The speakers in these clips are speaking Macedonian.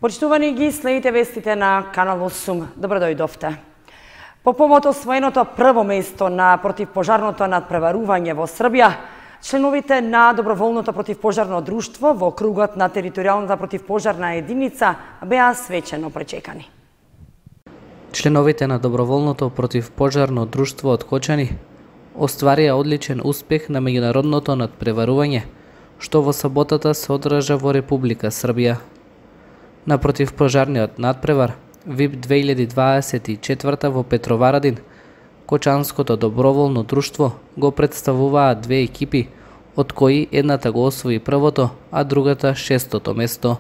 Почитувани ги следите вестите на Канал 8. Добро дојдовте. По повод освоеното прво место на противпожарното надпреварување во Србија, членовите на Доброволното противпожарно друштво во кругот на територијалната противпожарна единица беа свечено пречекани. Членовите на Доброволното противпожарно друштво од Кочани остварија одличен успех на меѓународното надпреварување, што во саботата се одржа во Република Србија. На противпожарниот надпревар ВИП 2024 во Петроварадин, Кочанското доброволно друштво го представуваат две екипи, од кои едната го освои првото, а другата шестото место.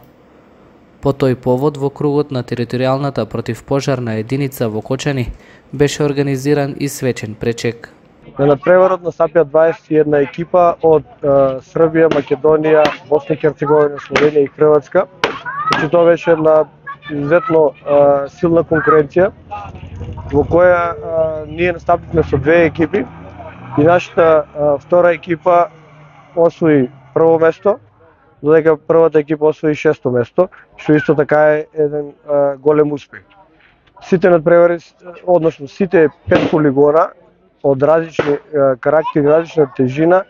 По тој повод во кругот на територијалната противпожарна единица во Кочани беше организиран и свечен пречек. На надпреварот настапија 21 екипа од Србија, Македонија, Босна и Херцеговина, Словенија и Хрватска. Значи тоа беше една изуzetно силна конкуренција во која ние настапивме со две екипи и нашата втора екипа освои прво место, додека првата екипа освои шесто место, што исто така е еден голем успех. Сите надпревари, односно сите 5 полигона од различни карактери, различна тежина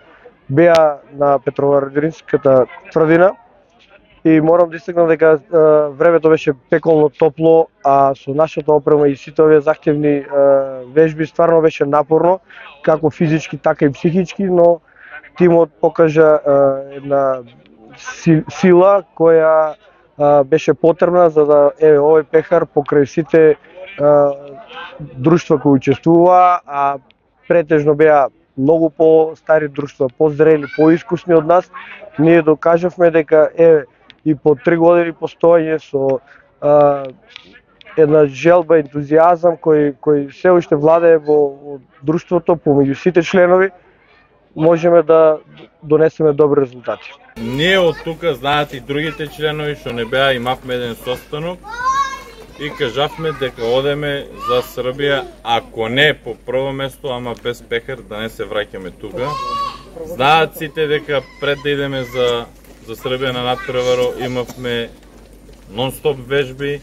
беа на Петроварадинската тврдина. И морам да истакнам дека времето беше пеколно топло, а со нашата опрема и сите овие захтевни вежби стварно беше напорно, како физички, така и психички, но тимот покажа една сила која беше потребна за да овој пехар покрај сите друштва кои учествуваа, а претежно беа многу по-стари друштва, по-зрели, по-искусни од нас, ние докажавме дека и по 3 години постоење со една желба, ентузијазам кој се уште владее во друштвото помеѓу сите членови, можеме да донесеме добри резултати. Ние од тука знаат и другите членови што не беа, имавме еден состанок и кажавме дека одеме за Србија, ако не по прво место, ама без пехар, да не се враќаме тука. Знаат сите дека пред да идеме за Србија на надпреваро имавме нон-стоп вежби,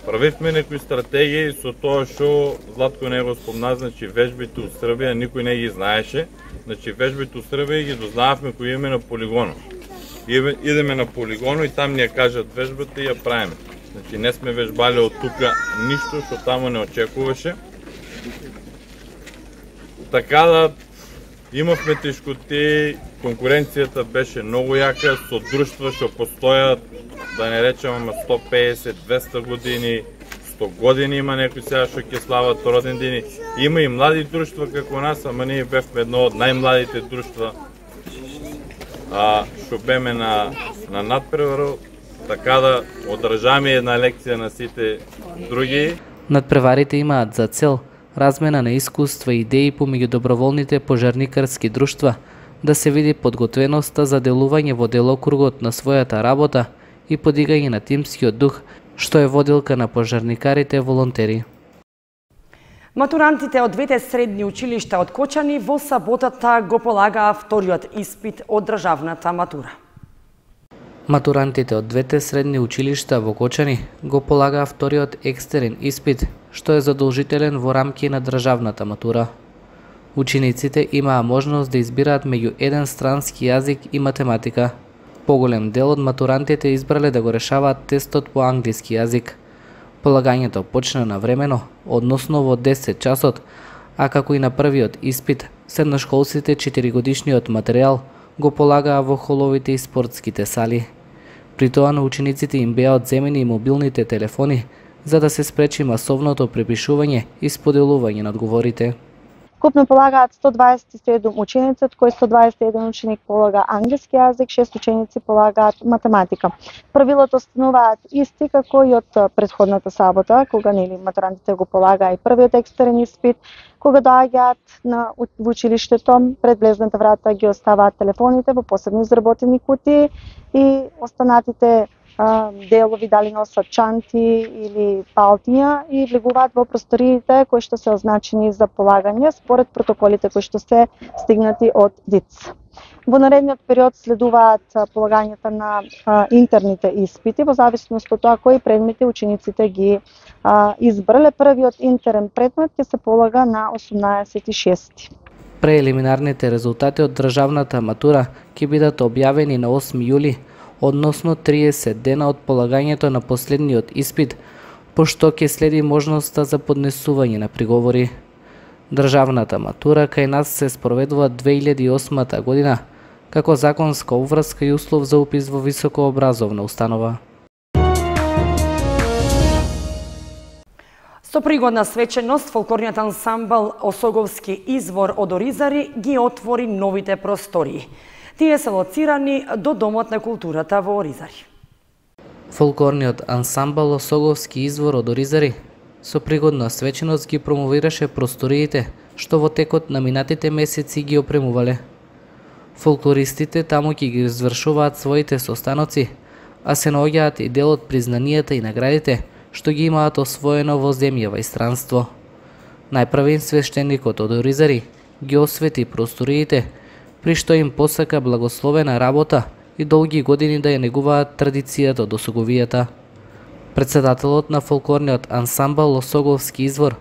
правивме некои стратегии со тоа што Златко не го спомна, значи вежбите у Србија никој не ги знаеше, значи вежбите у Србија ги дознававме кои имаме на полигоно. Идеме на полигоно и там ни ја кажат вежбата и ја правиме. Значи не сме вежбали од тука ништо што таму не очекуваше. Така да имавме тешкоти, конкуренцијата беше многу јака со друштва што постојат, да не речем 150, 200 години, 100 години има некои сега што ќе слават родендини. Има и млади друштва како нас, ама ние бевме едно од најмладите друштва што беме на надпреваро, така да одржаме една лекција на сите други. Надпреварите имаат за цел размена на искуства и идеи помеѓу доброволните пожарникарски друштва, да се види подготвеноста за делување во делокругот на својата работа и подигање на тимскиот дух, што е водилка на пожарникарите волонтери. Матурантите од двете средни училишта од Кочани во саботата го полагаа вториот испит од државната матура. Матурантите од двете средни училишта во Кочани го полагаа вториот екстерен испит, што е задолжителен во рамки на државната матура. Учениците имаа можност да избираат меѓу еден странски јазик и математика. Поголем дел од матурантите избрале да го решаваат тестот по англиски јазик. Полагањето почна навремено, односно во 10 часот, а како и на првиот испит, средношколците 4-годишниот материјал го полагаа во холовите и спортските сали. При тоа на учениците им беа одземени и мобилните телефони, за да се спречи масовното препишување и споделување на одговорите. Вкупно полагаат 127 ученици, од кои 121 ученик полага англиски јазик, 6 ученици полагаат математика. Правилото остануваат исти како и од претходната сабота, кога матурантите го полагаа и првиот екстерен испит, кога доаѓаат во училиштето, пред влезната врата ги оставаат телефоните во посебно изработени кутии и останатите делови, дали носат чанти или палтиња, и влегуваат во просториите кои што се означени за полагање според протоколите кои што се стигнати од ДИЦ. Во наредниот период следуваат полагањето на интерните испити во зависност од тоа кои предмети учениците ги избрале. Првиот интерен предмет ќе се полага на 18.6. Преелиминарните резултати од државната матура ќе бидат објавени на 8 јули, односно 30 дена од полагањето на последниот испит, пошто ќе следи можноста за поднесување на приговори. Државната матура кај нас се спроведува 2008 година, како законска обврска и услов за упис во високообразовна установа. Со пригодна свеченост, фолклорниот ансамбл Осоговски извор од Оризари ги отвори новите простории. Тие се лоцирани до Домот на културата во Оризари. Фолклорниот ансамбл Осоговски извор од Оризари со пригодна свеченост ги промовираше просториите што во текот на минатите месеци ги опремувале. Фолклористите таму ќе ги извршуваат своите состаноци, а се наоѓаат и дел од признанијата и наградите што ги имаат освоено во земјава и странство. Најпрвен свештеникот од Оризари ги освети просториите, при што им посака благословена работа и долги години да ја негуваат традицијата од осоговијата. Председателот на фолклорниот ансамбл Осоговски извор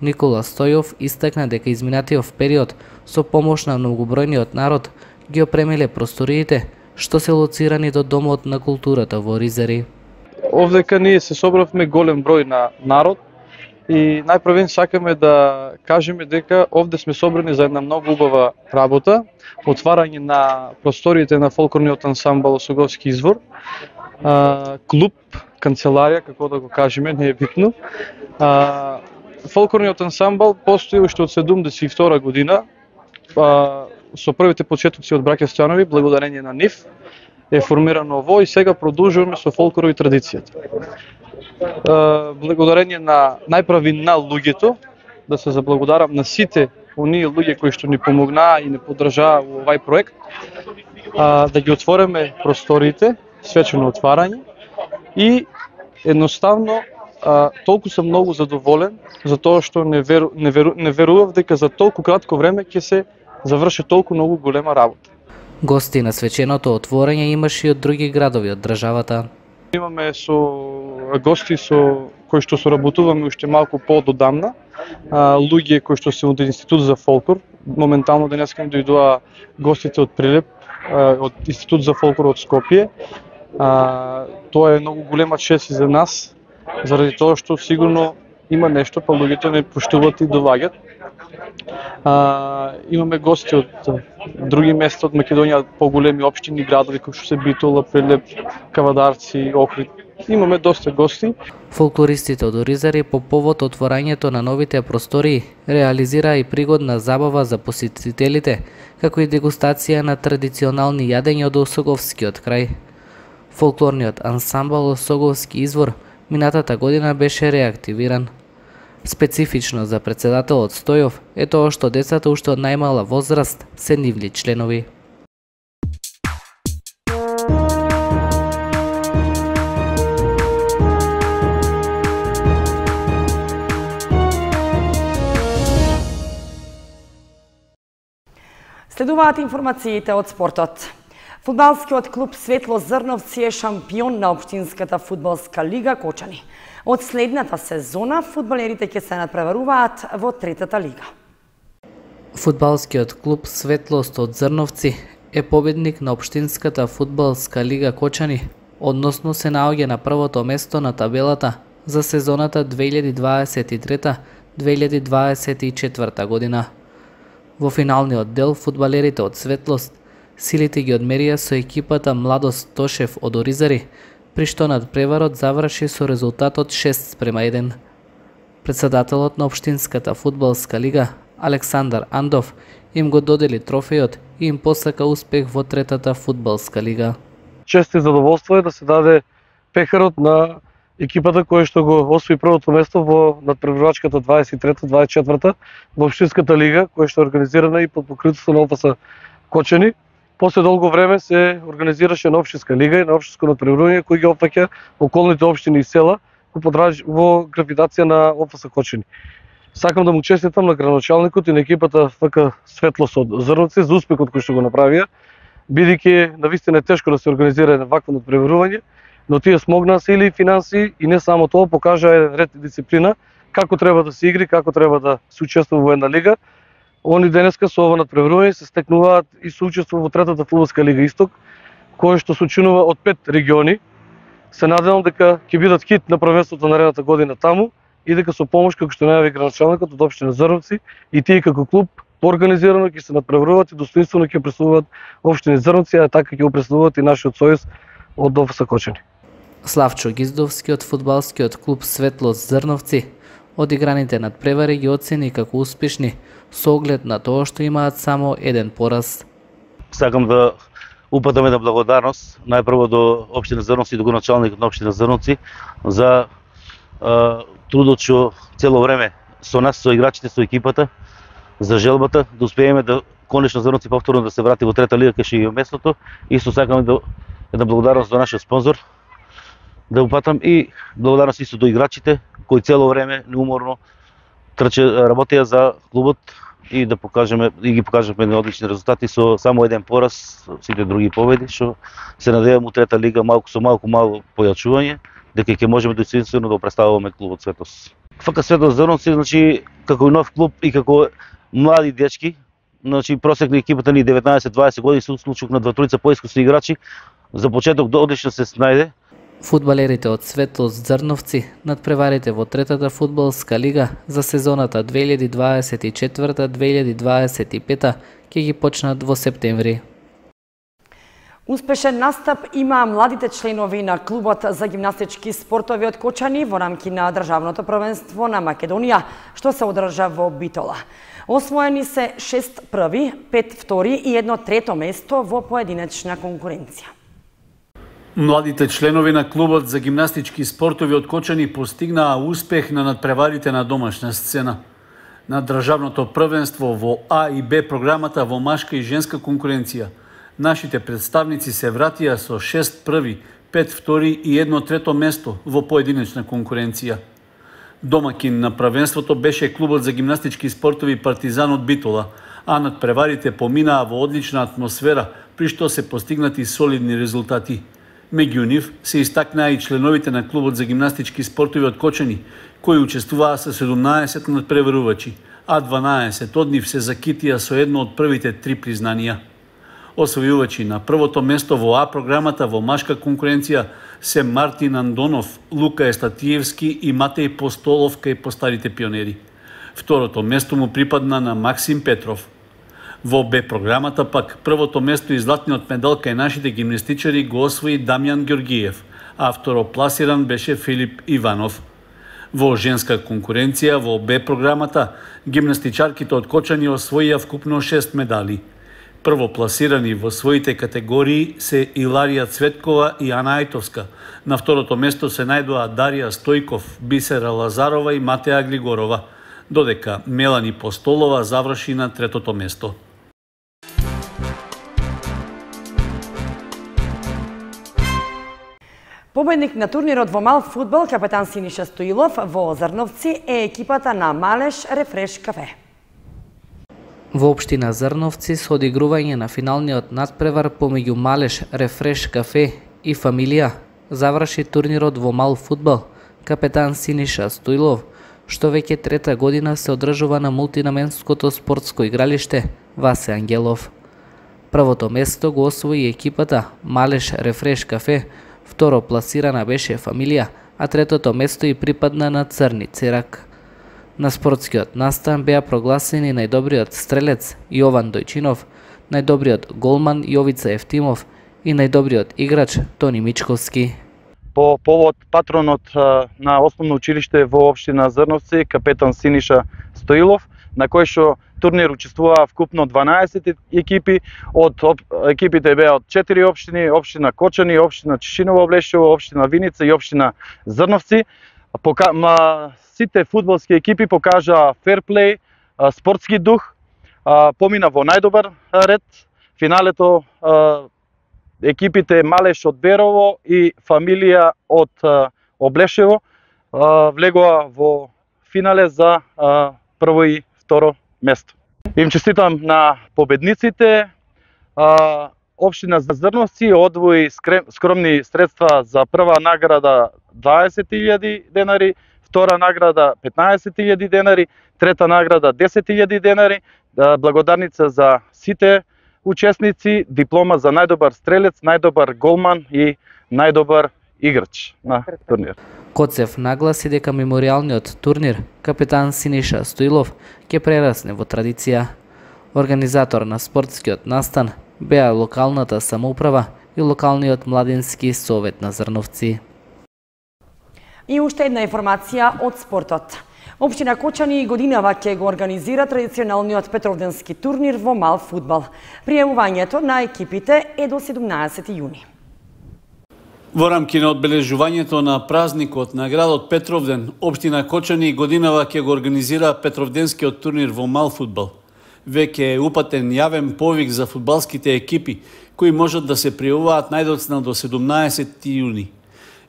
Никола Стојов истакна дека изминатиот период со помош на многобројниот народ ги опремиле просториите што се лоцирани до Домот на културата во Оризари. Овдека ние се собравме голем број на народ и најпрвен сакаме да кажеме дека овде сме собрани за една многу убава работа, отварање на просториите на фолклорниот ансамбл Осоговски извор, клуб, канцеларија, како да го кажеме, не е битно. Фолклорниот ансамбл постои уште од 72 година, со првите почетоци од браќа Стојанови, благодарение на нив, е формирано ово и сега продолжуваме со фолклорот и традицијата. Благодарение на најпрви на луѓето, да се заблагодарам на сите оние луѓе кои што ни помогнаа и не поддржаа во овај проект, да ги отвориме просториите, свечено отварање и едноставно толку сум многу задоволен за тоа што не верував дека за толку кратко време ќе се заврши толку многу голема работа. Гости на свеченото отворање имаше и од други градови од државата. Имаме гости со кои што соработуваме уште малку по-додамна, луѓе кои што се од Институт за фолклор. Моментално денеска ми дојдоа гостите од Прилеп, од Институт за фолклор од Скопје. Тоа е многу голема чест и за нас, заради тоа што сигурно има нешто, па луѓето не поштуваат и доаѓаат. Имаме гости од други места од Македонија, поголеми општини, градови кои што се Битола, Прилеп, Кавадарци, Охрид. Имаме доста гости. Фолклористите од Оризари по повод отворањето на новите простории реализираа и пригодна забава за посетителите, како и дегустација на традиционални јадења од Осоговскиот крај. Фолклорниот ансамбл Осоговски извор минатата година беше реактивиран. Специфично за председателот Стојов е тоа што децата уште од најмала возраст се нивни членови. Следуваат информациите од спортот. Фудбалскиот клуб Светло Зрновци е шампион на општинската фудбалска лига Кочани. Од следната сезона фудбалерите ќе се надпреваруваат во третата лига. Фудбалскиот клуб Светлост од Зрновци е победник на општинската фудбалска лига Кочани, односно се наоѓа на првото место на табелата за сезоната 2023-2024 година. Во финалниот дел фудбалерите од Светлост силите ги одмерија со екипата Младост Тошев од Оризари, при што надпреварот заврши со резултатот 6:1. Председателот на општинската фудбалска лига Александар Андов им го додели трофејот и им посака успех во третата фудбалска лига. Чест и задоволство е да се даде пехарот на екипата која што го освои првото место во надпреварувачката 23-24 во општинската лига, која што е организирана и под покритството на ОФС Кочани. После долго време се организираше на општинска лига и на општинско надпреварување кој ги опфаќа околните општини и села во гравитација на ОФС Кочани. Сакам да му честитам на градоначалникот и на екипата ФК Светлост од Зрновци за успехот кој што го направија бидејќи навистина е тешко да се организира вакво надпреварување, но тие смогнаа се или финанси и не само тоа, покажаа ред и дисциплина како треба да се игри, како треба да се учествува во една лига. Они денеска со ова надпреварување се стекнуваат и се учествува во третата фудбалска лига Исток, која што се учинува од 5 региони. Се надевам дека ќе бидат хит на првенството наредната година таму и дека со помош, како што најави градоначалникот од општина Зрновци, и тие како клуб поорганизирано ќе се надпреваруваат и достоинствено ќе представуваат општина Зрновци, а така ќе го представуваат и нашиот сојуз од ДОФС Кочани. Славчо Гиздовски од фудбалскиот клуб Светлост Зрновци одиграните надпревари ги оцени како успешни со оглед на тоа што имаат само еден пораз. Сакам да упатам една благодарност најпрво до општина Зрновци и до градоначалникот на општина Зрновци за трудот што цело време со нас, со играчите, со екипата, за желбата да успееме да конечно Зрновци повторно да се врати во трета лига кај што е местото. Исто сакам да една благодарност до нашиот спонзор да упатам и благодарност исто до играчите кои цело време неуморно работеа за клубот и да покажеме и ги покажавме едни одлични резултати со само еден пораз, сите други победи, што се надевам у трета лига малку со малку појачување, дека ќе можеме достоинствено да представуваме клубот Светлост. ФК Светлост Зрновци, значи како нов клуб и како млади дечки, значи просек на екипата ни 19-20 години, се случук на 2-3 поискусни играчи, за почеток одлично се снајде. Фудбалерите од Светлост Зрновци надпреварите во третата фудбалска лига за сезоната 2024-2025 ќе ги почнат во септември. Успешен настап има младите членови на клубот за гимнастички спортови од Кочани во рамки на државното првенство на Македонија, што се одржа во Битола. Освоени се 6 први, 5 втори и 1 трето место во поединечна конкуренција. Младите членови на клубот за гимнастички спортови од Кочани постигнаа успех на надпреварите на домашна сцена. На државното првенство во А и Б програмата во машка и женска конкуренција, нашите представници се вратија со 6 први, 5 втори и 1 трето место во поединечна конкуренција. Домакин на првенството беше клубот за гимнастички спортови Партизан од Битола, а надпреварите поминаа во одлична атмосфера, при што се постигнати солидни резултати. Меѓу нив се истакнаа и членовите на клубот за гимнастички спортови од Кочани, кои учествуваа со 17 надпреварувачи, а 12 од нив се закитија со едно од првите 3 признанија. Освојувачи на првото место во А програмата во машка конкуренција се Мартин Андонов, Лука Естатиевски и Матеј Постолов кај постарите пионери. Второто место му припадна на Максим Петров. Во Б програмата пак првото место и златниот медал кај нашите гимнастичари го освои Дамјан Ѓоргиев, а второпласиран беше Филип Иванов. Во женска конкуренција во Б програмата гимнастичарките од Кочани освоија вкупно 6 медали. Првопласирани во своите категории се Иларија Цветкова и Ана Ајтовска. На второто место се најдоа Дарија Стојков, Бисера Лазарова и Матеја Глигорова, додека Мелани Постолова заврши на третото место. Победник на турнирот во мал фудбал, капетан Синиша Стоилов во Зрновци е екипата на Малеш Рефреш кафе. Во општина Зрновци со одигрување на финалниот надпревар помеѓу Малеш Рефреш кафе и Фамилија заврши турнирот во мал фудбал, капетан Синиша Стоилов, што веќе трета година се одржува на мултинаменското спортско игралиште Васе Ангелов. Првото место го освои екипата Малеш Рефреш кафе, второ пласирана беше Фамилија, а третото место и припадна на Црни Церак. На спортскиот настан беа прогласени најдобриот стрелец Јован Дојчинов, најдобриот голман Јовица Ефтимов и најдобриот играч Тони Мичковски. По повод патронот на основно училиште во општина Зрновци, капетан Синиша Стоилов, на кој што турнир учествуваа вкупно 12 екипи, од екипите беа од 4 општини, општина Кочани, општина Чешиново Облешево, општина Виница и општина Зрновци. Сите фудбалски екипи покажаа ферплей, спортски дух, помина во најдобар ред. Финалето екипите Малеш од Берово и Фамилија од Облешево влегоа во финале за прво и второ место. Им честитам на победниците. Општина Зрновци одвои скромни средства за прва награда 20.000 денари, втора награда 15.000 денари, трета награда 10.000 денари, благодарница за сите учесници, диплома за најдобар стрелец, најдобар голман и најдобар играч на турнир. Коцев нагласи дека меморијалниот турнир капетан Синиша Стоилов ќе прерасне во традиција. Организатор на спортскиот настан беа локалната самоуправа и локалниот младински совет на Зрновци. И уште една информација од спортот. Општина Кочани годинава ќе го организира традиционалниот Петровденски турнир во мал фудбал. Пријавувањето на екипите е до 17 јуни. Во рамки на одбележувањето на празникот на градот Петровден, општина Кочани годинава ќе го организира Петровденскиот турнир во мал фудбал. Веќе е упатен јавен повик за фудбалските екипи, кои можат да се пријавуваат најдоцна до 17 јуни.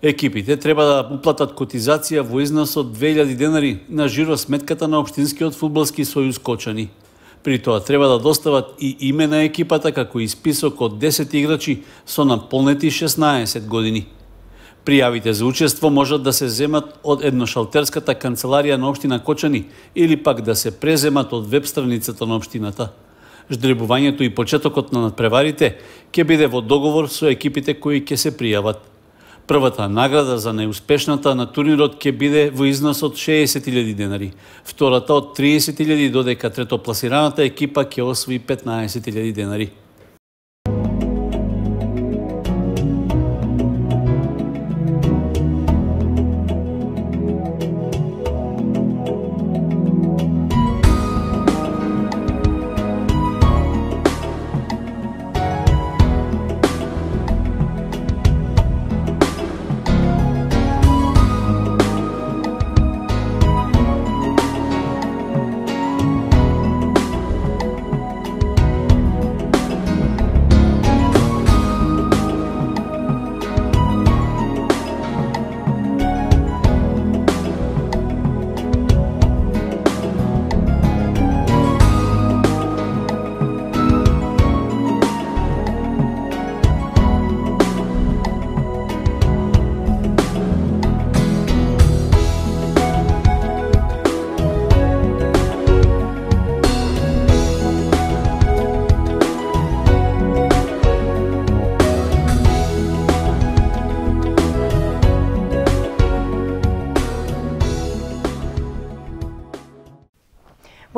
Екипите треба да уплатат котизација во износ од 2000 денари на жиро сметката на Општинскиот фудбалски сојуз Кочани. При тоа треба да достават и име на екипата како и список од 10 играчи со наполнети 16 години. Пријавите за учество можат да се земат од едношалтерската канцеларија на Општина Кочани или пак да се преземат од веб страницата на општината. Ждребувањето и почетокот на надпреварите ќе биде во договор со екипите кои ќе се пријават. Првата награда за најуспешната на турнирот ќе биде во износ од 60.000 денари, втората од 30.000, додека третопласираната екипа ќе освои 15.000 денари.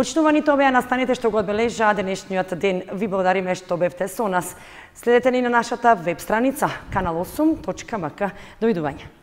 Почитуваните беа настаните што го одбележаа денешниот ден. Ви благодариме што бевте со нас. Следете ни на нашата веб страница kanal8.mk. Довидување.